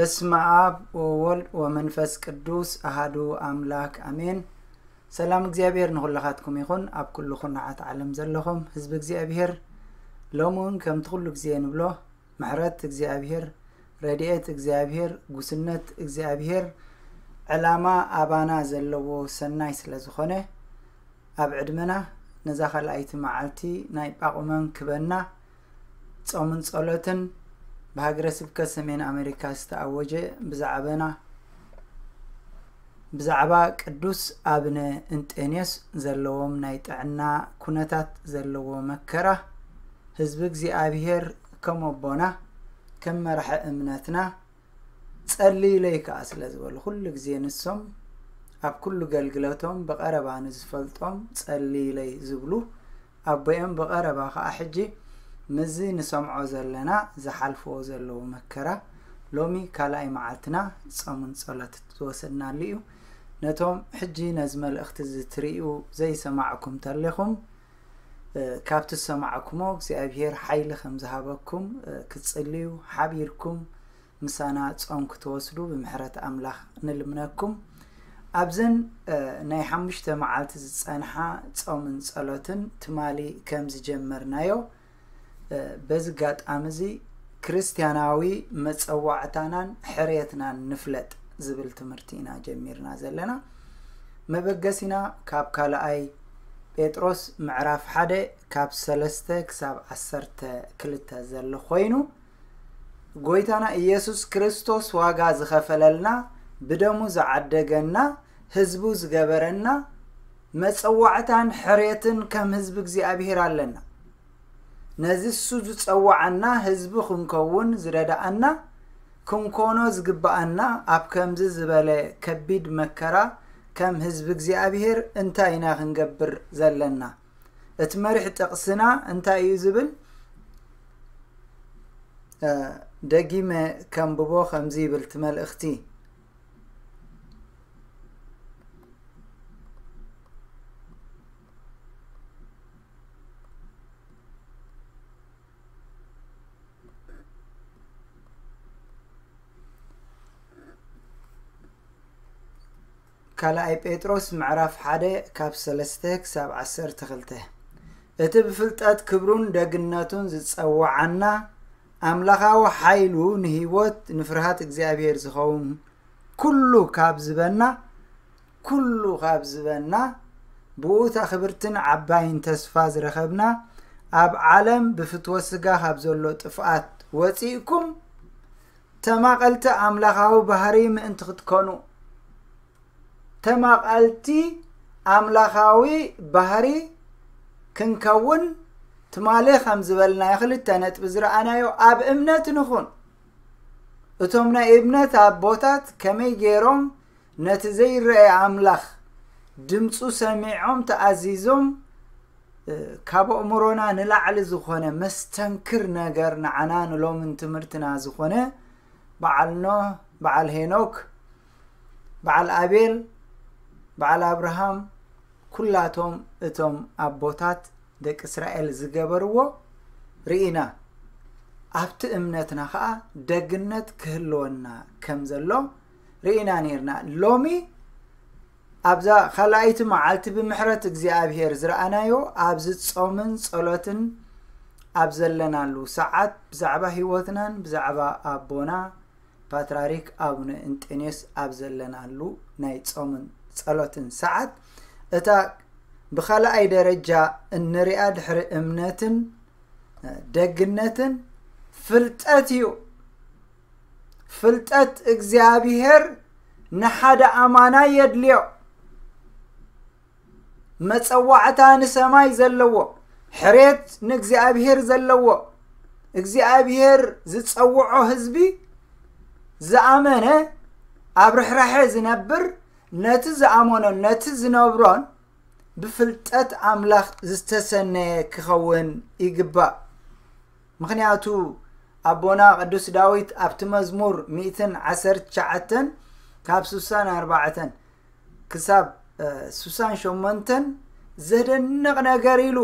በስመ ኣብ ወወልድ ወመንፈስ ቅዱስ ኣሃዱ ኣምላክ ኣሜን። ሰላም እግዚኣብሔር ንኹላኻትኩም ይኹን። ኣብ ኩሉ ኩርናዓት ዓለም ዘለኹም ህዝቢ እግዚኣብሔር፣ ሎሚ እውን ከምቲ ኩሉ ግዜ ንብሎ፣ ምሕረት እግዚኣብሔር፣ ረድኤት እግዚኣብሔር፣ ጉስነት እግዚኣብሔር፣ ዕላማ ኣባና ዘለዎ ሰናይ ስለ ዝኾነ፣ ኣብ ዕድመና ነዛ ካልኣይቲ መዓልቲ ናይ ጳቑመን ክበና ጾምን ጸሎትን ብሃገረ ስብከት ሰሜን ኣሜሪካ ዝተኣወጀ ብዛዕባና፣ ብዛዕባ ቅዱስ ኣብነ እንጤንዮስ ዘለዎም ናይ ጥዕና ኩነታት ዘለዎ መከራ፣ ህዝቢ እግዚኣብሔር ከም ኣቦና፣ ከም መራሒ እምነትና፣ ጸልይለይ ከኣ ስለ ዝበሉ፣ ኩሉ ግዜ ንሶም ኣብ ኩሉ ገልግለቶም ብቐረባ ንዝፈልጦም ጸልይለይ ዝብሉ ኣቦኦም ብቐረባ ከኣ ሕጂ ምስዚ ንሰምዖ ዘለና ዝሓልፍዎ ዘለዉ መከራ ሎሚ ካልኣይ መዓልትና ጾምን ጸሎት ዝወሰድናሉ እዩ። ነቶም ሕጂ ነዚ መልእኽቲ እዚ ትርእዩ ዘይሰማዕኩም ተሌኹም፣ እ፣ ካብቲ ዝሰማዕኩሞ እግዚኣብሔር ሓይሊ ከም ዝሃበኩም፣ እ፣ ክትጽልዩ ሓቢርኩም ምሳና ጾም ክትወስዱ ብምሕረት ኣምላኽ ንልምነኩም። ኣብዘን፣ እ፣ ናይ ሓሙሽተ መዓልቲ ዝጸንሓ ጾምን ጸሎትን ትማሊ ከም ዝጀመርናዮ፣ እ፣ በዚ ኣጋጣሚ እዚ ክርስትያናዊ መጸዋዕታናን ሕርየትናን ንፍለጥ ዝብል ትምህርቲ ኢና ጀሚርና ዘለና። መበገሲና ካብ ካልኣይ ጴጥሮስ ምዕራፍ ሓደ ካብ ሰለስተ ክሳብ ዓሰርተ ክልተ ዘሎ ኮይኑ፣ ጎይታና ኢየሱስ ክርስቶስ ዋጋ ዝኸፈለልና፣ ብደሙ ዝዓደገና፣ ህዝቡ ዝገበረና፣ መጸዋዕታን ሕርየትን ከም ህዝቢ እግዚኣብሔር ኣለና። ነዚ እሱ ዝጸዋዓና ህዝቢ ክንከውን ዝረዳኣና፣ ክንኮኖ ዝግባኣና፣ ኣብ ከምዚ ዝበለ ከቢድ መከራ ከም ህዝቢ እግዚኣብሔር እንታይ ኢና ክንገብር ዘለና? እቲ መሪሕ ጥቕስና እንታይ እዩ ዝብል? እ፣ ደጊመ ከንብቦ ከምዚ ይብል እቲ መልእኽቲ። ካልኣይ ጴጥሮስ ምዕራፍ ሓደ ካብ ሰለስተ ክሳብ ዓሰርተ ክልተ። እቲ ብፍልጠት ክብሩን ደግነቱን ዝጸውዓና፣ ኣምላኻዊ ሓይሉ ንህይወት ንፍርሃት እግዚኣብሔር ዝኸውን ኩሉ ካብ ዝበና፣ ኩሉ ካብ ዝበና፣ ብኡ እታ ክብርትን ዓባይን ተስፋ ዝረኸብና፣ ኣብ ዓለም ብፍትወት ስጋ ካብ ዘሎ ጥፍኣት ወጺእኩም፣ ተማቐልቲ ኣምላኻዊ ባህሪ ምእንቲ ክትኮኑ፣ ተማቐልቲ ኣምላኻዊ ባህሪ ክንከውን ትማሊ ከም ዝበልናዮ ክልተ ነጥቢ ዝረኣናዮ ኣብ እምነት ንኹን። እቶም ናይ እምነት ኣቦታት ከመይ ገይሮም ነቲ ዘይረኣየ ኣምላኽ ድምፁ ሰሚዖም ተኣዚዞም፣ እ፣ ካብ ኣእምሮና ንላዕሊ ዝኾነ መስተንክር ነገር ንዓና ንሎምን ትምህርትና ዝኾነ በዓል ኖህ፣ በዓል ሄኖክ፣ በዓል ኣቤል፣ በዓል ኣብርሃም፣ ኩላቶም እቶም ኣቦታት ደቂ እስራኤል ዝገበርዎ ርኢና። ኣብቲ እምነትና ኸኣ ደግነት ክህልወና ከም ዘሎ ርኢና ነይርና። ሎሚ ኣብዛ ካልኣይቲ መዓልቲ ብምሕረት እግዚኣብሔር ዝረኣናዮ፣ ኣብዚ ጾምን ጸሎትን ኣብ ዘለናሉ ሰዓት ብዛዕባ ህይወትናን ብዛዕባ ኣቦና ፓትርያርክ ኣቡነ እንጤንዮስ ኣብ ዘለናሉ ናይ ጾምን ጸሎትን ሰዓት፣ እታ ብኻልኣይ ደረጃ እንሪኣ ድሕሪ እምነትን ደግነትን ፍልጠት እዩ። ፍልጠት እግዚኣብሔር ንሓደ ኣማናይ የድልዮ። መጸዋዕታ ንሰማይ ዘለዎ፣ ሕሬት ንእግዚኣብሔር ዘለዎ፣ እግዚኣብሔር ዝጸውዖ ህዝቢ ዝኣመነ፣ ኣብ ርሕራሐ ዝነብር፣ ነቲ ዝኣመኖን ነቲ ዝነብሮን ብፍልጠት ኣምላኽ ዝተሰነየ ክኸውን ይግባእ። ምኽንያቱ ኣቦና ቅዱስ ዳዊት ኣብቲ መዝሙር ሚእትን ዓሰርተ ትሽዓተን ካብ ስሳን ኣርባዕተን ክሳብ፣ እ፣ ስሳን ሸሞንተን ዘደንቕ ነገር ኢሉ፣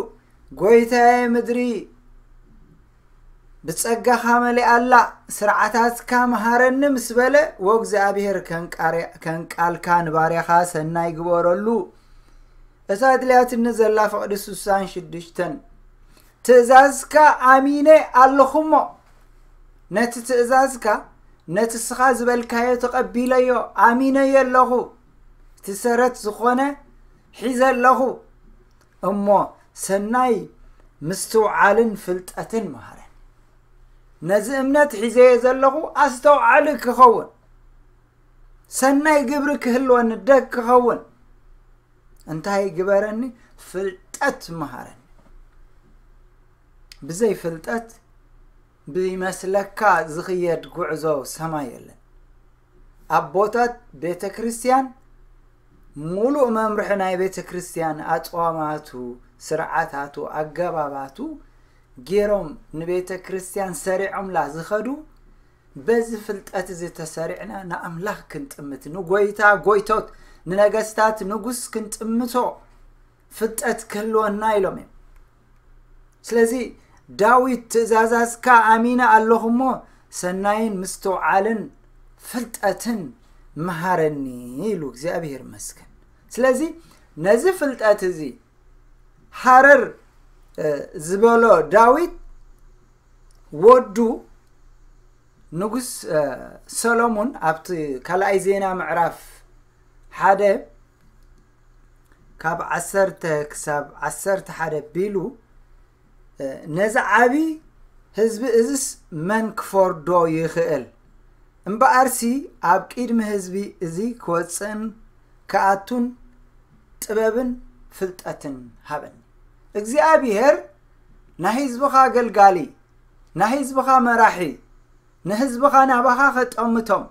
"ጎይታየ ምድሪ ብጸጋኻ መሊኣላ፣ ስርዓታትካ መሃረኒ ምስ በለ፣ ወእግዚኣብሔር ከንቃርያ-፣ ከንቃልካ ንባርያኻ ሰናይ ግበረሉ። እታ ኣድልያትኒ ዘላ ፍቕዲ ስሳን ሽዱሽተን፣ ትእዛዝካ ኣሚነ ኣለኹሞ፣ ነቲ ትእዛዝካ፣ ነቲ እስኻ ዝበልካዮ ተቐቢለዮ፣ ኣሚነዮ ኣለኹ። እቲ ሰረት ዝኾነ ሒዘ ኣለኹ። እሞ ሰናይ ምስትውዓልን ፍልጠትን መሃረን። ነዚ እምነት ሒዘዮ ዘለኹ ኣስተውዓሊ ክኸውን፣ ሰናይ ግብሪ ክህልወኒ ደግ ክኸውን እንታይ ግበረኒ? ፍልጠት መሃረኒ። ብዘይ ፍልጠት ብይመስለካ ዝኽየድ ጉዕዞ ሰማይ የለን። ኣቦታት ቤተ ክርስቲያን ሙሉእ መምርሒ ናይ ቤተ ክርስቲያን ኣጽዋማቱ፣ ስርዓታቱ፣ ኣገባባቱ ገይሮም ንቤተ ክርስቲያን ሰሪዖምላ ዝኸዱ፣ በዚ ፍልጠት እዚ ተሰሪዕና ንኣምላኽ ክንጥምት፣ ንጎይታ ጎይቶት፣ ንነገስታት ንጉስ ክንጥምቶ ፍልጠት ክህልወና ኢሎም እዮም። ስለዚ ዳዊት ትእዛዛዝካ ኣሚነ ኣለኹ እሞ ሰናይን ምስትውዓልን ፍልጠትን መሃረኒ ኢሉ እግዚኣብሔር ይመስገን። ስለዚ ነዚ ፍልጠት እዚ ሃረር፣ እ፣ ዝበሎ ዳዊት ወዱ ንጉስ፣ እ፣ ሰሎሞን ኣብቲ ካልኣይ ዜና ምዕራፍ ሓደ ካብ ዓሰርተ ክሳብ ዓሰርተ ሓደ ቢሉ፣ እ፣ ነዚ ዓቢ ህዝቢ እዝስ መን ክፈርዶ ይኽእል? እምበኣርሲ ኣብ ቅድሚ ህዝቢ እዚ ክወጽእን ክኣቱን ጥበብን ፍልጠትን ሃበኒ። እግዚኣብሔር ናይ ህዝብኻ ኣገልጋሊ፣ ናይ ህዝብኻ መራሒ፣ ንህዝብኻ ናባኻ ከጠምቶም፣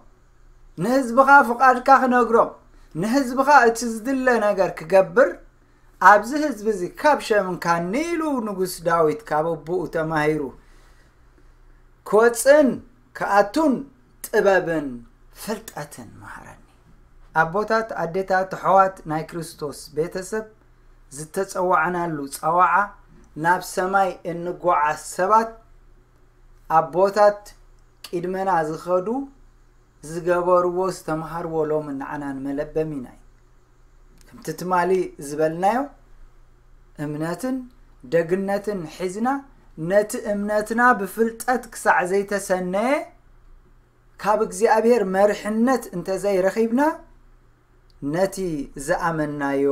ንህዝብኻ ፍቓድካ ክነግሮም፣ ንህዝብኻ እቲ ዝድለ ነገር ክገብር፣ ኣብዚ ህዝቢ እዚ ካብ ሸምንካኒ ኢሉ ንጉስ ዳዊት ካብ ኣቦኡ ተማሂሩ ክወፅእን ክኣቱን ጥበብን ፍልጠትን መሃረኒ። ኣቦታት፣ ኣዴታት፣ ኣሕዋት ናይ ክርስቶስ ቤተሰብ ዝተፀዋዕናሉ ፀዋዓ ናብ ሰማይ እንጓዓዝ ሰባት ኣቦታት ቅድመና ዝኸዱ ዝገበርዎ ዝተምሃርዎ ሎሚ ንዓና ንመለበሚና እዩ። ከምቲ ትማሊ ዝበልናዮ እምነትን ደግነትን ሒዝና ነቲ እምነትና ብፍልጠት ክሳዕ ዘይተሰነየ ካብ እግዚኣብሔር መርሕነት እንተዘይረኺብና ነቲ ዝኣመናዮ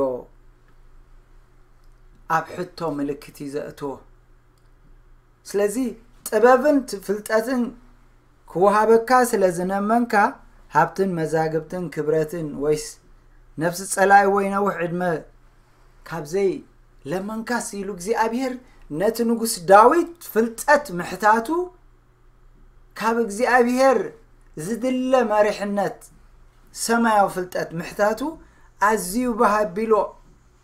ኣብ ሕቶ ምልክት እዩ ዘእትዎ። ስለዚ ጥበብን ት-፣ ፍልጠትን ክወሃበካ ስለ ዝነመንካ ሃብትን መዛግብትን ክብረትን ወይስ ነፍሲ ጸላኢ ወይ ነዊሕ ዕድመ ካብዘይ ለመንካስ ኢሉ እግዚኣብሔር ነቲ ንጉስ ዳዊት ፍልጠት ምሕታቱ ካብ እግዚኣብሔር ዝድለ መሪሕነት ሰማያዊ ፍልጠት ምሕታቱ ኣዝዩ ባህ ኣቢሎ፣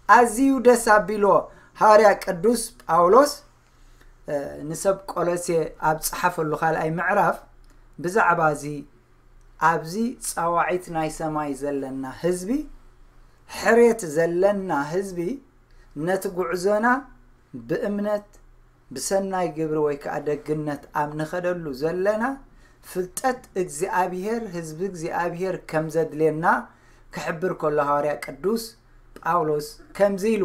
ኣዝዩ ደስ ኣቢሎ። ሃዋርያ ቅዱስ ጳውሎስ፣ እ፣ ንሰብ ቆሎሴ ኣብ ጸሓፈሉ ካልኣይ ምዕራፍ ብዛዕባ እዚ ኣብዚ ጻዋዒት ናይ ሰማይ ዘለና ህዝቢ፣ ሕርየት ዘለና ህዝቢ፣ ነቲ ጉዕዞና ብእምነት ብሰናይ ግብሪ ወይ ከኣ ደግነት ኣብ ንኸደሉ ዘለና ፍልጠት እግዚኣብሔር፣ ህዝቢ እግዚኣብሔር ከም ዘድልየና ክሕብር ከሎ ሃዋርያ ቅዱስ ጳውሎስ ከምዚ ኢሉ፣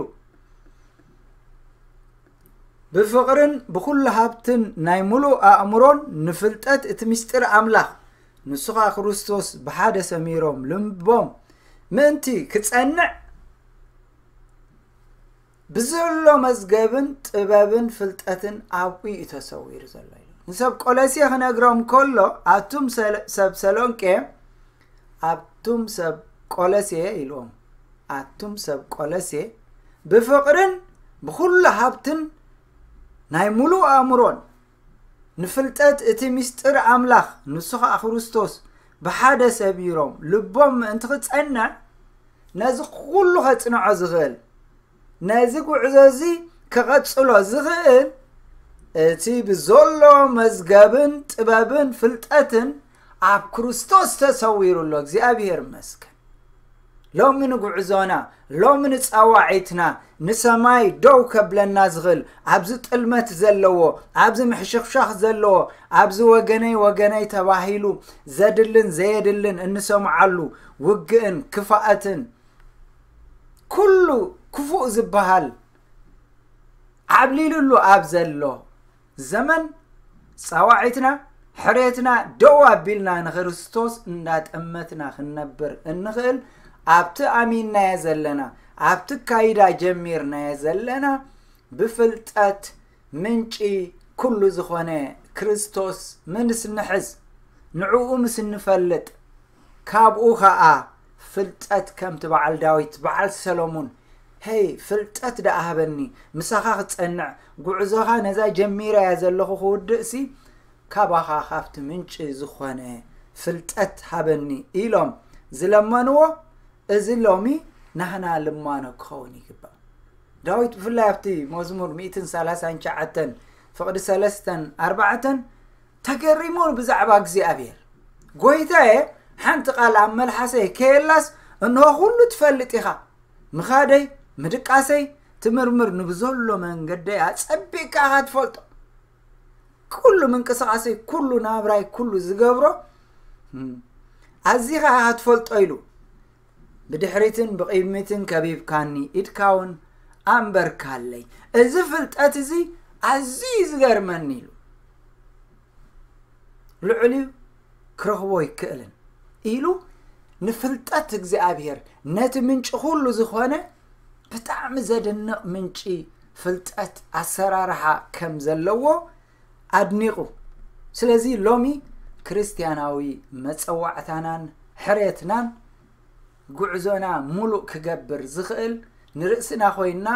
ብፍቕርን ብኹሉ ሃብትን ናይ ምሉእ ኣእምሮን ንፍልጠት እቲ ምስጢር ኣምላኽ፣ ንሱ ኸኣ ክርስቶስ ብሓደ ሰሚሮም ልቦም ምእንቲ ክጸንዕ ብዘሎ መዝገብን ጥበብን ፍልጠትን ኣብኡ እዩ ተሰዊሩ ዘሎ ኢሉ። ንሰብ ቆለሴ ክነግሮም ከሎ፣ ኣቱም ሰለ-፣ ሰብ ሰሎንቄ፣ ኣቱም ሰብ ቆለሴ ኢልዎም። ኣቱም ሰብ ቆለሴ፣ ብፍቕርን ብኹሉ ሃብትን ናይ ምሉእ ኣእምሮን ንፍልጠት እቲ ምስጢር ኣምላኽ፣ ንሱ ኸኣ ክርስቶስ፣ ብሓደ ሰቢሮም ልቦም ምእንቲ ክጸንዕ፣ ነዚ ኩሉ ኸጽንዖ ዝኽእል፣ ነዚ ጉዕዞ እዚ ክቐጽሎ ዝኽእል፣ እቲ ብዘሎ መዝገብን ጥበብን ፍልጠትን ኣብ ክርስቶስ ተሰዊሩ ኣሎ። እግዚኣብሔር ይመስገን። ሎሚ ንጉዕዞና፣ ሎሚ ንጻዋዒትና፣ ንሰማይ ደው ከብለና ዝኽእል፣ ኣብዚ ጥልመት ዘለዎ፣ ኣብዚ ምሕሽኽሻኽ ዘለዎ፣ ኣብዚ ወገነይ ወገነይ ተባሂሉ ዘድልን ዘየድልን እንሰምዓሉ ውግእን ክፋኣትን፣ ኩሉ ክፉእ ዝበሃል ዓብሊሉሉ ኣብ ዘሎ ዘመን፣ ጻዋዒትና፣ ሕሬትና ደው ኣቢልና ንክርስቶስ እንዳጠመትና ክንነብር እንኽእል፣ ኣብቲ ኣሚንናዮ ዘለና፣ ኣብቲ ካይዳ ጀሚርናዮ ዘለና፣ ብፍልጠት ምንጪ ኩሉ ዝኾነ ክርስቶስ ምስ ንሕዝ፣ ንዕኡ ምስ እንፈልጥ፣ ካብኡ ኸኣ ፍልጠት ከምቲ በዓል ዳዊት፣ በዓል ሰሎሙን፣ "ሄይ፣ ፍልጠት ደኣ ሃበኒ፣ ምሳኻ ክጸንዕ፣ ጉዕዞኻ ነዛ ጀሚረያ ዘለኹ ክውድእሲ፣ ካባኻ ካብቲ ምንጪ ዝኾነ ፍልጠት ሃበኒ" ኢሎም ዝለመንዎ፣ እዚ ሎሚ ናህና ልማኖ ክኸውን ይግባእ። ዳዊት ብፍላይ ኣብቲ መዝሙር ሚእትን ሰላሳን ትሽዓተን ፍቕዲ ሰለስተን ኣርባዕተን ተገሪሙ ብዛዕባ እግዚኣብሔር፣ "ጎይታየ፣ ሓንቲ ቃል ኣብ መልሓሰይ ከየላስ፣ እንሆ ኩሉ ትፈልጥ ኢኻ። ምኻደይ፣ ምድቃሰይ ትምርምር፣ ንብዘሎ መንገደይ ኣጸቢቕካ ኢኻ ትፈልጦ። ኩሉ ምንቅስቓሰይ፣ ኩሉ ናብራይ፣ ኩሉ ዝገብሮ፣ እም፣ ኣዚኻ ኢኻ ትፈልጦ" ኢሉ። "ብድሕሪትን ብቕድሚትን ከቢብካኒ፣ ኢድካ እውን ኣንበርካለይ። እዚ ፍልጠት እዚ ኣዝዩ እዩ ዝገርመኒ" ኢሉ። "ልዕሊኡ ክረኽቦ ኣይክእልን" ኢሉ ንፍልጠት እግዚኣብሔር፣ ነቲ ምንጪ ኩሉ ዝኾነ ብጣዕሚ ዘደንቕ ምንጪ ፍልጠት ኣሰራርሓ ከም ዘለዎ ኣድኒቑ። ስለዚ ሎሚ ክርስትያናዊ መጸዋዕታናን ሕሬትናን ጉዕዞና ሙሉእ ክገብር ዝኽእል ንርእስና ኮይንና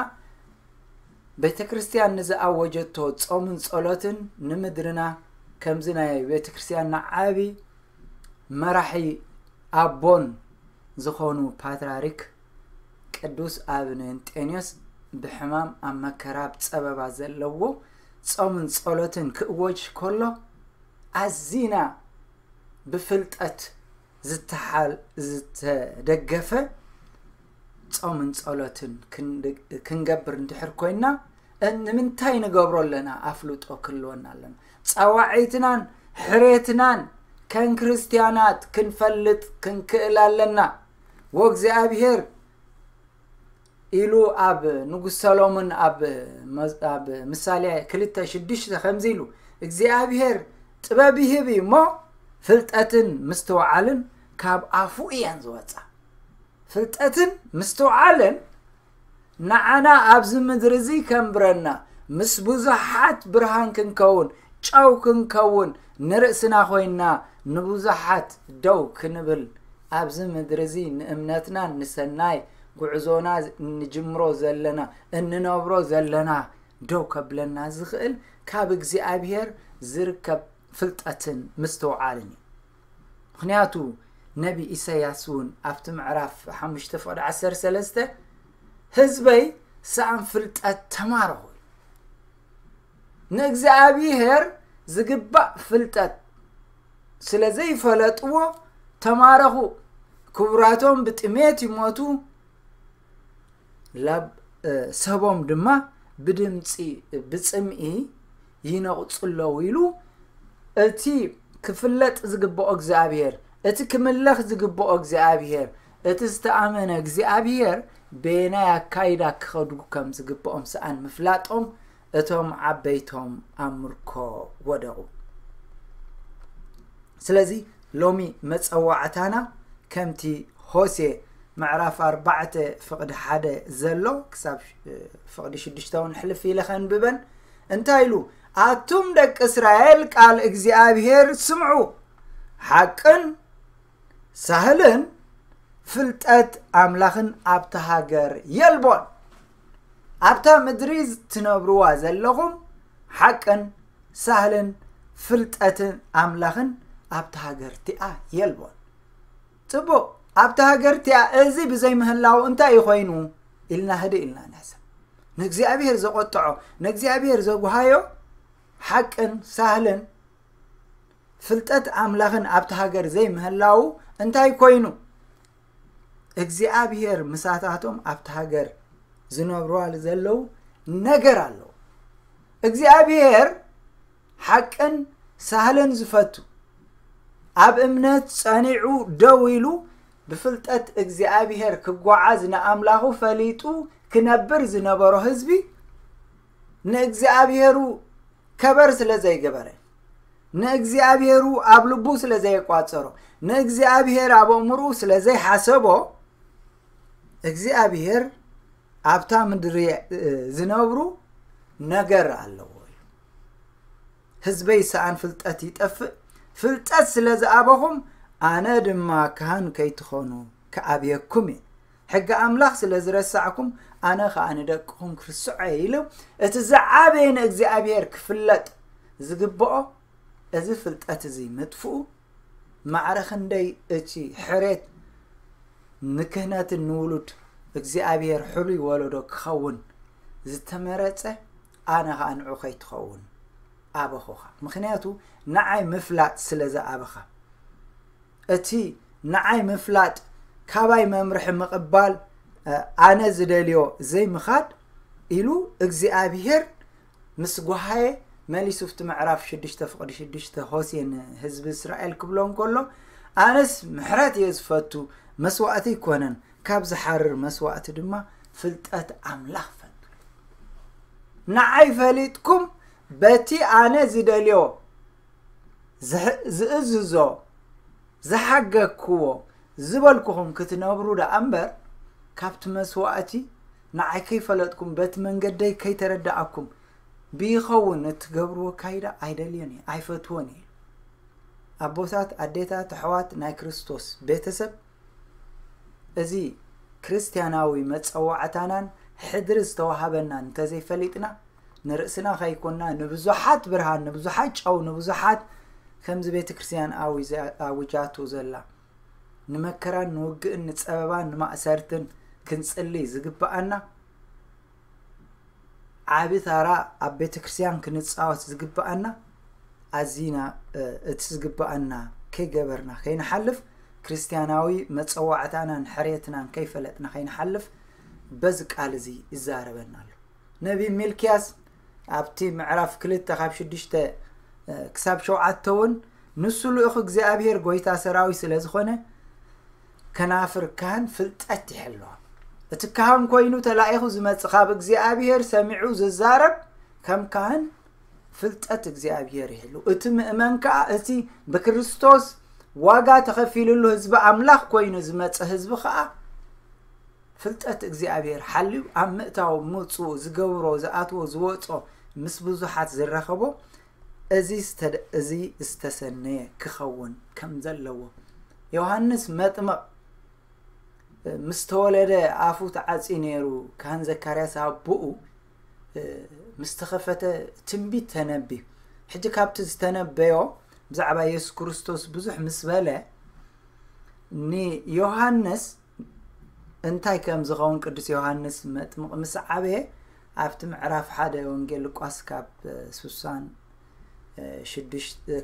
ቤተ ክርስትያን ንዝኣወጀቶ ጾምን ጸሎትን ንምድርና ከምዚ ናይ ቤተ ክርስትያንና ዓቢ መራሒ ኣቦን ዝኾኑ ፓትርያርክ ቅዱስ ኣቡነ እንጤንዮስ ብሕማም ኣብ መከራ ኣብ ጸበባ ዘለዎ ጾምን ጸሎትን ክእወጅ ከሎ ኣዚና ብፍልጠት ዝተሓል-፣ ዝተደገፈ ጾምን ጸሎትን ክንድ-፣ ክንገብር እንድሕር ኮይንና፣ እ-፣ ንምንታይ ንገብሮ ኣለና? ኣፍልጦ ክህልወና ኣለና። ጸዋዒትናን ሕሬትናን ከም ክርስትያናት ክንፈልጥ ክንክእል ኣለና። "ወእግዚኣብሔር" ኢሉ ኣብ ንጉስ ሰሎሞን ኣብ መዝ-፣ ኣብ ምሳሌ ክልተ ሽዱሽተ ከምዚ ኢሉ፣ "እግዚኣብሔር ጥበብ ይህብ እዩ እሞ፣ ፍልጠትን ምስትውዓልን ካብ ኣፉ እየን ዝወጻ።" ፍልጠትን ምስትውዓልን ንዓና ኣብዚ ምድሪ እዚ ከንብረና፣ ምስ ብዙሓት ብርሃን ክንከውን፣ ጨው ክንከውን፣ ንርእስና ኮይንና ንብዙሓት ደው ክንብል፣ ኣብዚ ምድሪ እዚ ንእምነትና፣ ንሰናይ ጉዕዞና እንጅምሮ ዘለና፣ እንነብሮ ዘለና ደው ከብለና ዝኽእል ካብ እግዚኣብሔር ዝርከብ ፍልጠትን ምስትውዓልን እዩ። ምኽንያቱ ነቢ ኢሳያስ እውን ኣብቲ ምዕራፍ ሓሙሽተ ፍቕዲ ዓሰርተ ሰለስተ፣ "ህዝበይ ሰኣን ፍልጠት ተማረኹ" ኢሉ። ንእግዚኣብሔር ዝግባእ ፍልጠት ስለ ዘይፈለጥዎ ተማረኹ። ክቡራቶም ብጥሜት ይሞቱ፣ ላብ-፣ እ፣ ሰቦም ድማ ብድምፂ፣ ብፅምኢ ይነቕፁ ኣለዉ ኢሉ። እቲ ክፍለጥ ዝግብኦ እግዚኣብሔር፣ እቲ ክምለኽ ዝግብኦ እግዚኣብሔር፣ እቲ ዝተኣመነ እግዚኣብሔር በየናይ ኣካይዳ ክኸዱ ከም ዝግብኦም ሰኣን ምፍላጦም እቶም ዓበይቶም ኣብ ምርኮ ወደቑ። ስለዚ ሎሚ መጸዋዕታና ከምቲ ሆሴ ምዕራፍ ኣርባዕተ ፍቕዲ ሓደ ዘሎ ክሳብ፣ እ፣ ፍቕዲ ሽዱሽተ እውን ሕልፍ ኢለ ከንብበን። እንታይ ኢሉ? "ኣቱም ደቂ እስራኤል ቃል እግዚኣብሔር ስምዑ፣ ሓቅን ሳህልን ፍልጠት ኣምላኽን ኣብታ ሃገር የልቦን። ኣብታ ምድሪ ትነብርዋ ዘለኹም ሓቅን ሳህልን ፍልጠትን ኣምላኽን ኣብታ ሃገር እቲኣ የልቦን።" ጽቡቕ፣ ኣብታ ሃገር እቲኣ እዚ ብዘይምህላው እንታይ እዩ ኮይኑ ኢልና ህድእ ኢልና ንሕሰብ። ንእግዚኣብሔር ዘቖጥዖ፣ ንእግዚኣብሔር ዘጉሃዮ ሓቅን ሳህልን ፍልጠት ኣምላኽን ኣብቲ ሃገር ዘይምህላዉ እንታይ ኮይኑ? እግዚኣብሔር ምሳታቶም ኣብቲ ሃገር ዝነብሩዋ ዘለዉ ነገር ኣለዉ። እግዚኣብሔር ሓቅን ሳህልን ዝፈቱ፣ ኣብ እምነት ጸኒዑ ደው ኢሉ ብፍልጠት እግዚኣብሔር ክጓዓዝ ንኣምላኹ ፈሊጡ ክነብር ዝነበሮ ህዝቢ፣ ንእግዚኣብሔሩ ከበር ስለ ዘይገበረ፣ ንእግዚኣብሔሩ ኣብ ልቡ ስለ ዘየቋጸሮ፣ ንእግዚኣብሔር ኣብ ኣእምርኡ ስለ ዘይሓሰቦ፣ እግዚኣብሔር ኣብታ ምድሪ ዝነብሩ ነገር ኣለዎ እዩ። ህዝበይ ሰኣን ፍልጠት ይጠፍእ፣ ፍልጠት ስለ ዝኣበኹም ኣነ ድማ ካህን ከይትኾኑ ክኣብየኩም እየ። ሕጊ ኣምላኽ ስለ ዝረሳዕኩም ኣነ ኸኣ ንደቅኹም ክርስዖ እየ ኢሉ፣ እቲ ዝዓበየ ንእግዚኣብሔር ክፍለጥ ዝግብኦ እዚ ፍልጠት እዚ ምጥፍኡ ማዕረ ክንደይ እቲ ሕሬት ንክህነትን ንውሉድ እግዚኣብሔር ሕሉይ ወለዶ ክኸውን ዝተመረጸ ኣነ ኸኣ ንዑ ከይትኸውን ኣበኹኻ። ምኽንያቱ ንዓይ ምፍላጥ ስለ ዝኣበኻ። እቲ ንዓይ ምፍላጥ ካባይ መምርሒ ምቕባል ኣነ ዝደልዮ ዘይምኻድ ኢሉ እግዚኣብሔር ምስ ጓሃየ መሊሱ ኣብቲ ምዕራፍ ሽዱሽተ ፍቕዲ ሽዱሽተ ሆሴ ንህዝቢ እስራኤል ክብሎ እንከሎ ኣነስ ምሕረት እየ ዝፈቱ መስዋእቲ ኣይኮነን ካብ ዝሓርር መስዋእቲ ድማ ፍልጠት ኣምላኽ ፈልጡ። ንዓይ ፈሊጥኩም በቲ ኣነ ዝደልዮ ዝእዝዞ ዝሓገግክዎ ዝበልኩኹም ክትነብሩ ደኣ እምበር ካብቲ መስዋእቲ ንዓይ ከይፈለጥኩም በቲ መንገደይ ከይተረዳኣኩም ብይኸውን እትገብርዎ ካይዳ ኣይደልዮን እየ ኣይፈትዎን እየ። ኣቦታት ኣዴታት ኣሕዋት ናይ ክርስቶስ ቤተሰብ እዚ ክርስትያናዊ መጸዋዕታናን ሕድሪ ዝተዋሃበናን እንተዘይፈሊጥና ንርእስና ከይኮንና ንብዙሓት ብርሃን ንብዙሓት ጨው ንብዙሓት ከምዚ ቤተ ክርስትያን ኣውጃቱ ዘላ ንመከራን ንውግእን ንጸበባን ንማእሰርትን ክንጽሊ ዝግብኣና ዓቢ ታራ ኣብ ቤተ ክርስትያን ክንጻወት ዝግብኣና ኣዚና እቲ ዝግብኣና ከይገበርና ከይንሓልፍ ክርስትያናዊ መጸዋዕታናን ሕርየትናን ከይፈለጥና ከይንሓልፍ በዚ ቃል እዚ ይዛረበና ኣሎ። ነቢ ሚልክያስ ኣብቲ ምዕራፍ ክልተ ካብ ሽዱሽተ ክሳብ ሸውዓተ እውን ንሱ ልኡኽ እግዚኣብሔር ጎይታ ሰራዊት ስለ ዝኾነ ከናፍር ካህን ፍልጠት ይሕልዋ። እቲ ካህን ኮይኑ ተላኢኹ ዝመጽእ ካብ እግዚኣብሔር ሰሚዑ ዝዛረብ ከም ካህን ፍልጠት እግዚኣብሔር ይሕሉ። እቲ ምእመን ከኣ እቲ ብክርስቶስ ዋጋ ተኸፊልሉ ህዝቢ ኣምላኽ ኮይኑ ዝመጽእ ህዝቢ ከኣ ፍልጠት እግዚኣብሔር ሓልዩ ኣብ ምእታው ምውፅኡ ዝገብሮ ዝኣትዎ ዝወፆ ምስ ብዙሓት ዝራኸቦ እዚ ዝተሰነየ ክኸውን ከም ዘለዎ ዮሃንስ መጥምቕ ምስ ተወለደ ኣፉ ተዓፅዩ ነይሩ። ካህን ዘካርያስ ኣቦኡ ምስ ተኸፈተ ትንቢት ተነብዩ። ሕጂ ካብቲ ዝተነበዮ ብዛዕባ የሱስ ክርስቶስ ብዙሕ ምስ በለ ንዮሃንስ እንታይ ከም ዝኸውን ቅዱስ ዮሃንስ መጥምቕ ምስ ዓበየ ኣብቲ ምዕራፍ ሓደ ወንጌል ሉቃስ ካብ ስሳን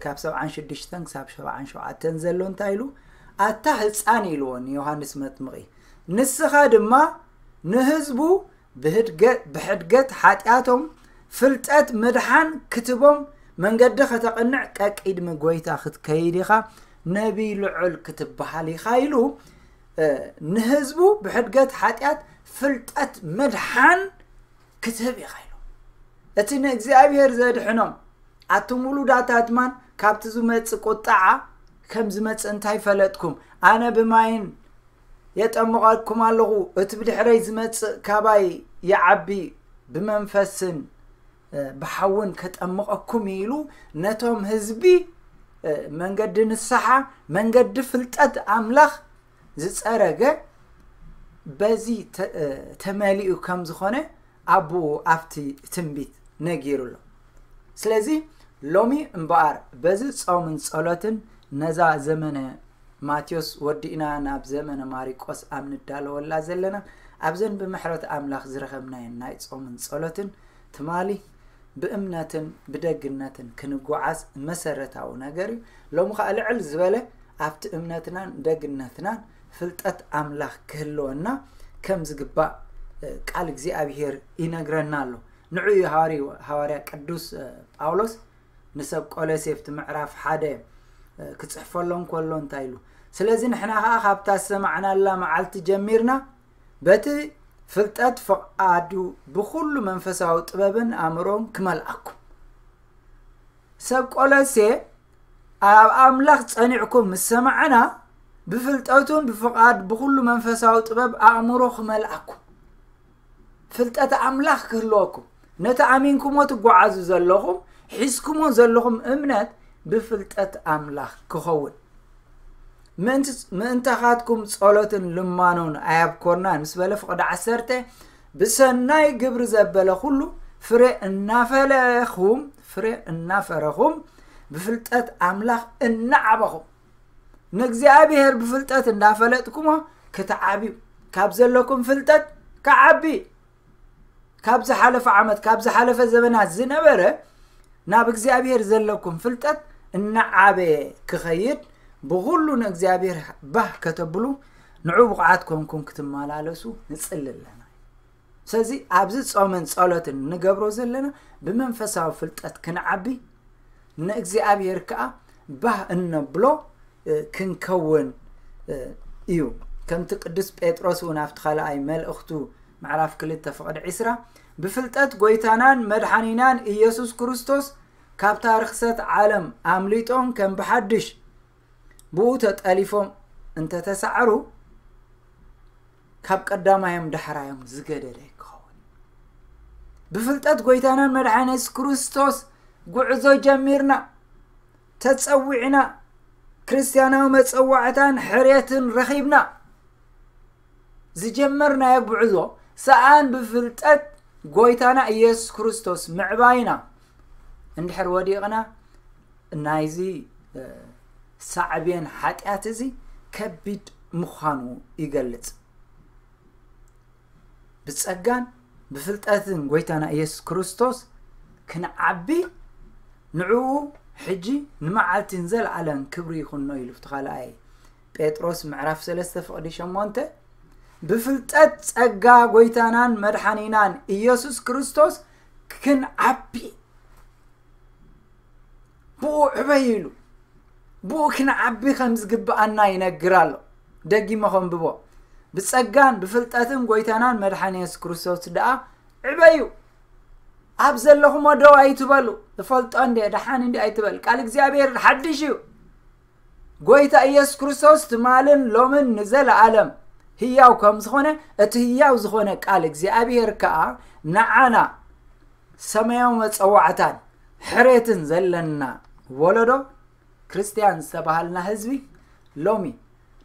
ካብ ሰብዓን ሽዱሽተን ክሳብ ሰብዓን ሸውዓተን ዘሎ እንታይ ኢሉ ኣታ ህፃን ኢልዎ ንዮሃንስ መጥምቒ ንስኻ ድማ ንህዝቡ ብሕድገት ሓጢኣቶም ፍልጠት ምድሓን ክትቦም መንገዲ ከተቕንዕ ቀቂድሚ ጎይታ ክትከይድ ኢኻ ነቢይ ልዑል ክትበሃል ኢኻ ኢሉ ንህዝቡ ብሕድገት ሓጢኣት ፍልጠት ምድሓን ክትህብ ኢኻ ኢሉ እቲ ንእግዚኣብሔር ዘድሕኖም ኣቱም ውሉዳት ኣድማን ካብቲ ዝመጽእ ቁጣዓ ከም ዝመጽእ እንታይ ፈለጥኩም ኣነ ብማይን የጠምቐኩም ኣለኹ እቲ ብድሕረይ ዝመጽእ ካባይ ይዓቢ ብመንፈስን ብሓውን ከጠምቐኩም ኢሉ ነቶም ህዝቢ መንገዲ ንስሓ መንገዲ ፍልጠት ኣምላኽ ዝጸረገ በዚ ተመሊኡ ከም ዝኾነ ኣቦኡ ኣብቲ ትንቢት ነጊሩ ኣሎ። ስለዚ ሎሚ እምበኣር በዚ ጾምን ጸሎትን ነዛ ዘመነ ማቴዎስ ወዲእና ናብ ዘመነ ማሪቆስ ኣብ ንዳለወላ ዘለና ኣብዘን ብምሕረት ኣምላኽ ዝረኸብናየን ናይ ጾምን ጸሎትን ትማሊ ብእምነትን ብደግነትን ክንጓዓዝ መሰረታዊ ነገር እዩ። ሎሚ ከኣ ልዕል ዝበለ ኣብቲ እምነትናን ደግነትናን ፍልጠት ኣምላኽ ክህልወና ከም ዝግባእ ቃል እግዚኣብሔር ይነግረና ኣሎ። ንዑ እዩ ሃዋርያ ቅዱስ ጳውሎስ ንሰብ ቆሎሴ ኣብቲ ምዕራፍ ሓደ ክጽሕፈሎም ከሎ እንታይ ኢሉ? ስለዚ ንሕና ኸዓ ካብታ ዝሰማዕናላ መዓልቲ ጀሚርና በቲ ፍልጠት ፍቓዱ ብኹሉ መንፈሳዊ ጥበብን ኣእምሮን ክመልኣኩም። ሰብ ቆሎሴ ኣብ ኣምላኽ ጸኒዕኩም ምስ ሰማዕና ብፍልጠቱን ብፍቓድ ብኹሉ መንፈሳዊ ጥበብ ኣእምሮ ክመልኣኩም፣ ፍልጠት ኣምላኽ ክህልወኩም፣ ነቲ ኣሚንኩሞ ትጓዓዙ ዘለኹም ሒዝኩሞ ዘለኹም እምነት ብፍልጠት ኣምላኽ ክኸውን ምእንታኻትኩም ጸሎትን ልማኖን ኣያብኮርናን ምስ በለ ፍቕዲ ዓሰርተ ብሰናይ ግብሪ ዘበለ ኩሉ ፍሬ እናፈለኹም ፍሬ እናፈረኹም ብፍልጠት ኣምላኽ እናዓበኹም ንእግዚኣብሔር ብፍልጠት እንዳፈለጥኩሞ ክትዓብዩ ካብ ዘለኩም ፍልጠት ክዓቢ ካብ ዝሓለፈ ዓመት ካብ ዝሓለፈ ዘበናት ዝነበረ ናብ እግዚኣብሔር ዘለኩም ፍልጠት እናዓበየ ክኸይድ ብኹሉ ንእግዚኣብሔር ባህ ከተብሉ ንዑ ብቕዓት ኮንኩም ክትመላለሱ ንጽሊ ኣለና። ስለዚ ኣብዚ ጾምን ጸሎትን ንገብሮ ዘለና ብመንፈሳዊ ፍልጠት ክንዓቢ ንእግዚኣብሔር ከኣ ባህ እነብሎ ክንከውን እዩ። ከምቲ ቅዱስ ጴጥሮስ እውን ኣብቲ ካልኣይ መልእኽቱ ምዕራፍ ክልተ ፍቕዲ ዕስራ ብፍልጠት ጎይታናን መድሓኒናን ኢየሱስ ክርስቶስ ካብታ ርኽሰት ዓለም ኣምሊጦም ከም ብሓድሽ ብኡ ተጠሊፎም እንተተሳዕሩ ካብ ቀዳማዮም ዳሕራዮም ዝገደደ ክኸውን ብፍልጠት ጎይታናን መድሓኒ የሱስ ክርስቶስ ጉዕዞ ጀሚርና ተጸዊዕና ክርስትያናዊ መጸዋዕታን ሕርየትን ረኺብና ዝጀመርናዮ ጉዕዞ ሰኣን ብፍልጠት ጎይታና ኢየሱስ ክርስቶስ ምዕባይና እንድሕር ወዲቕና ናይዚ ሳዕቤን ሓጢኣት እዚ ከቢድ ምዃኑ ይገልጽ። ብጸጋን ብፍልጠትን ጎይታና ኢየሱስ ክርስቶስ ክንዓቢ ንዕኡ ሕጂ ንመዓልቲ ንዘለዓለም ክብሪ ይኹኖ ኢሉ እቲ ካልኣይ ጴጥሮስ ምዕራፍ ሰለስተ ፍቕዲ ሸሞንተ ብፍልጠት ጸጋ ጎይታናን መድሓኒናን ኢየሱስ ክርስቶስ ክንዓቢ ብኡ ዕበዩ ኢሉ ብኡ ክንዓቢ ከም ዝግብኣና ይነግር ኣሎ። ደጊመ ከንብቦ፣ ብጸጋን ብፍልጠትን ጎይታናን መድሓኒ የሱስ ክርስቶስ ደኣ ዕበዩ። ኣብ ዘለኹሞ ደው ኣይትበሉ። እፈልጦ እንደ ደሓን እንዲ ኣይትበል። ቃል እግዚኣብሔር ሓድሽ እዩ። ጎይታ ኢየሱስ ክርስቶስ ትማልን ሎምን ንዘለኣለም ህያው ከም ዝኾነ እቲ ህያው ዝኾነ ቃል እግዚኣብሔር ከኣ ንዓና ሰማያዊ መጸዋዕታን ሕሬትን ዘለና ወለዶ ክርስትያን ዝተባሃልና ህዝቢ ሎሚ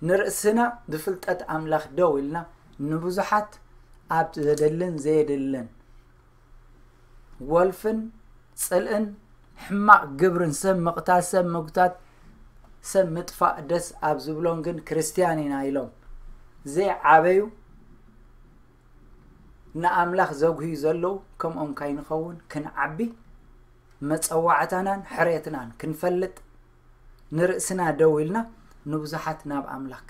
ንርእስና ብፍልጠት ኣምላኽ ደው ኢልና ንብዙሓት ኣብ ዘደልን ዘየድልን ወልፍን ጽልእን ሕማቕ ግብርን ሰብ ምቕታል ሰብ ምጉታት ሰብ ምጥፋእ ደስ ኣብ ዝብሎም ግን ክርስትያን ኢና ኢሎም ዘይዓበዩ ንኣምላኽ ዘጉህዩ ዘለዉ ከምኦም ካይንኸውን ክንዓቢ መጸዋዕታናን ሕርየትናን ክንፈልጥ ንርእስና ደው ኢልና ንብዙሓት ናብ ኣምላኽ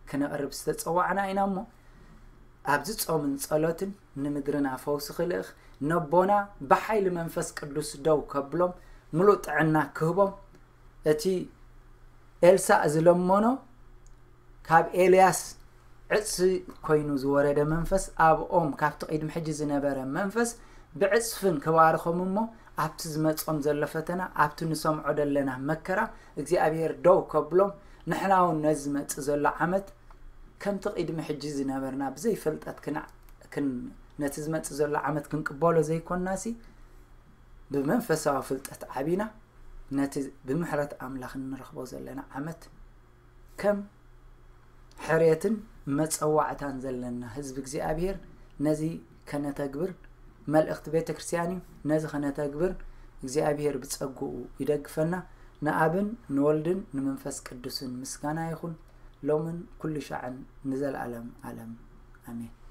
ክነቕርብ ዝተጸዋዕና ኢና እሞ ኣብዚ ጾምን ጸሎትን ንምድርና ፈውሲ ክልእኽ ነቦና ብሓይሊ መንፈስ ቅዱስ ደው ከብሎም ምሉእ ጥዕና ክህቦም እቲ ኤልሳእ ዝለመኖ ካብ ኤልያስ ዕጽፊ ኮይኑ ዝወረደ መንፈስ ኣብኦም ካብቲ ቅድሚ ሕጂ ዝነበረ መንፈስ ብዕጽፍን ክባርኾም እሞ ኣብቲ ዝመጾም ዘሎ ፈተና ኣብቲ ንሰምዖ ዘለና መከራ እግዚኣብሔር ደው ከብሎም ንሕና እውን ነዚ ዝመጽእ ዘሎ ዓመት ከምቲ ቅድሚ ሕጂ ዝነበርና ብዘይፈልጠት ነቲ ዝመጽእ ዘሎ ዓመት ክንቅበሎ ዘይኮንናሲ ብመንፈሳዊ ፍልጠት ዓቢና ነቲ ብምሕረት ኣምላኽ እንረኽቦ ዘለና ዓመት ከም ሕርየትን መጸዋዕታን ዘለና ህዝቢ እግዚኣብሔር ነዚ ከነተግብር መልእኽቲ ቤተ ክርስቲያን እዩ። ነዚ ከነተግብር እግዚኣብሔር ብጸግኡ ይደግፈና። ንኣብን ንወልድን ንመንፈስ ቅዱስን ምስጋና ይኹን ሎምን ኩሉ ሻዕን ንዘለኣለም ኣለም ኣሜን።